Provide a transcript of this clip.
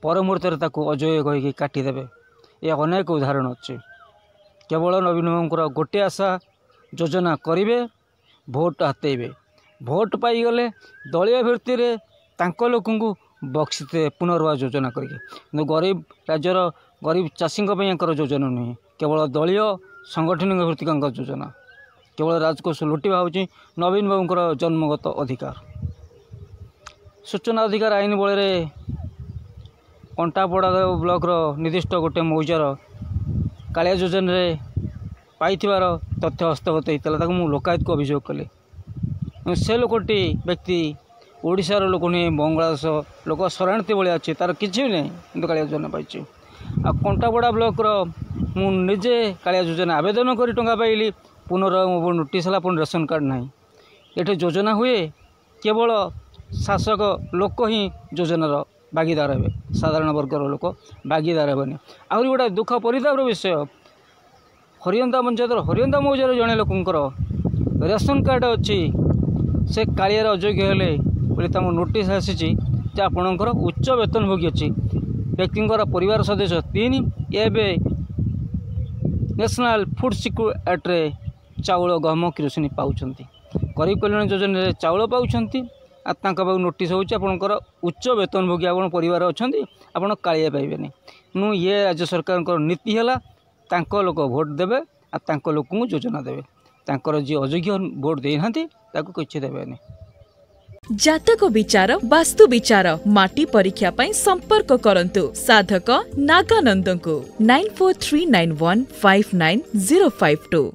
ପର ମୁହୂର୍ତ୍ତରେ ତାକୁ ଅଯୋଗ୍ୟ କହିକି କାଟିଦେବେ। ଏ ଅନେକ ଉଦାହରଣ ଅଛି। କେବଳ ନବୀନ ବାବୁଙ୍କର ଗୋଟିଏ ଆଶା, ଯୋଜନା କରିବେ, ଭୋଟ ହାତେଇବେ। ଭୋଟ ପାଇଗଲେ ଦଳୀୟ ଭିତ୍ତିରେ ତାଙ୍କ ଲୋକଙ୍କୁ ବକ୍ସିଦେବେ ପୁନର୍ବାର ଯୋଜନା କରିକି। କିନ୍ତୁ ଗରିବ ରାଜ୍ୟର ଗରିବ ଚାଷୀଙ୍କ ପାଇଁ ୟାଙ୍କର ଯୋଜନା ନୁହେଁ, କେବଳ ଦଳୀୟ ସଂଗଠନିକ ଭିତ୍ତିକ ଯୋଜନା। କେବଳ ରାଜକୋଷ ଲୁଟିବା ହେଉଛି ନବୀନ ବାବୁଙ୍କର ଜନ୍ମଗତ ଅଧିକାର। ସୂଚନା ଅଧିକାର ଆଇନ ବଳରେ କଣ୍ଟାପଡ଼ା ବ୍ଲକର ନିର୍ଦ୍ଦିଷ୍ଟ ଗୋଟେ ମୌଜାର କାଳିଆ ଯୋଜନାରେ ପାଇଥିବାର ତଥ୍ୟ ହସ୍ତଗତ ହେଇଥିଲା। ତାକୁ ମୁଁ ଲୋକାୟୁକ୍ତକୁ ଅଭିଯୋଗ କଲି। ସେ ଲୋକଟି ବ୍ୟକ୍ତି ଓଡ଼ିଶାର ଲୋକ ନୁହେଁ, ବଙ୍ଗଳାଦେଶ ଲୋକ, ଶରଣାର୍ଥୀ ଭଳିଆ ଅଛି, ତା'ର କିଛି ବି ନାହିଁ, କିନ୍ତୁ କାଳିଆ ଯୋଜନା ପାଇଛି। ଆଉ କଣ୍ଟାପଡ଼ା ବ୍ଲକର ମୁଁ ନିଜେ କାଳିଆ ଯୋଜନା ଆବେଦନ କରି ଟଙ୍କା ପାଇଲି, ପୁନର୍ବାର ମୋ ନୋଟିସ୍ ହେଲା, ପୁଣି ରେସନ କାର୍ଡ଼ ନାହିଁ। ଏଠି ଯୋଜନା ହୁଏ, କେବଳ ଶାସକ ଲୋକ ହିଁ ଯୋଜନାର ଭାଗିଦାର ହେବେ, ସାଧାରଣ ବର୍ଗର ଲୋକ ଭାଗିଦାର ହେବେନି। ଆହୁରି ଗୋଟେ ଦୁଃଖ ପରିତାପର ବିଷୟ, ହରିଅନ୍ତା ପଞ୍ଚାୟତର ହରିଅନ୍ତା ମୌଜାର ଜଣେ ଲୋକଙ୍କର ରେସନ କାର୍ଡ଼ ଅଛି, ସେ କାଳିଆର ଅଯୋଗ୍ୟ ହେଲେ ବୋଲି ତାଙ୍କୁ ନୋଟିସ୍ ଆସିଛି ଯେ ଆପଣଙ୍କର ଉଚ୍ଚ ବେତନଭୋଗୀ ଅଛି। ବ୍ୟକ୍ତିଙ୍କର ପରିବାର ସଦସ୍ୟ 3, ଏବେ ନ୍ୟାସନାଲ୍ ଫୁଡ଼୍ ସିକ୍ୟୁରିଟି ଆକ୍ଟରେ ଚାଉଳ, ଗହମ, କିରୋସିନି ପାଉଛନ୍ତି। ଗରିବ କଲ୍ୟାଣ ଯୋଜନାରେ ଚାଉଳ ପାଉଛନ୍ତି, ଆଉ ତାଙ୍କ ପାଖକୁ ନୋଟିସ୍ ହେଉଛି ଆପଣଙ୍କର ଉଚ୍ଚ ବେତନଭୋଗୀ ଆପଣ ପରିବାର ଅଛନ୍ତି, ଆପଣ କାଳିଆ ପାଇବେନି। ମୁଁ ଇଏ ରାଜ୍ୟ ସରକାରଙ୍କର ନୀତି ହେଲା ତାଙ୍କ ଲୋକ ଭୋଟ ଦେବେ ଆଉ ତାଙ୍କ ଲୋକଙ୍କୁ ଯୋଜନା ଦେବେ, ତାଙ୍କର ଯିଏ ଅଯୋଗ୍ୟ ଭୋଟ ଦେଇନାହାନ୍ତି ତାକୁ କିଛି ଦେବେନି। ଜାତକ ବିଚାର, ବାସ୍ତୁ ବିଚାର, ମାଟି ପରୀକ୍ଷା ପାଇଁ ସମ୍ପର୍କ କରନ୍ତୁ ସାଧକ ନାଗାନନ୍ଦଙ୍କୁ 9439159052।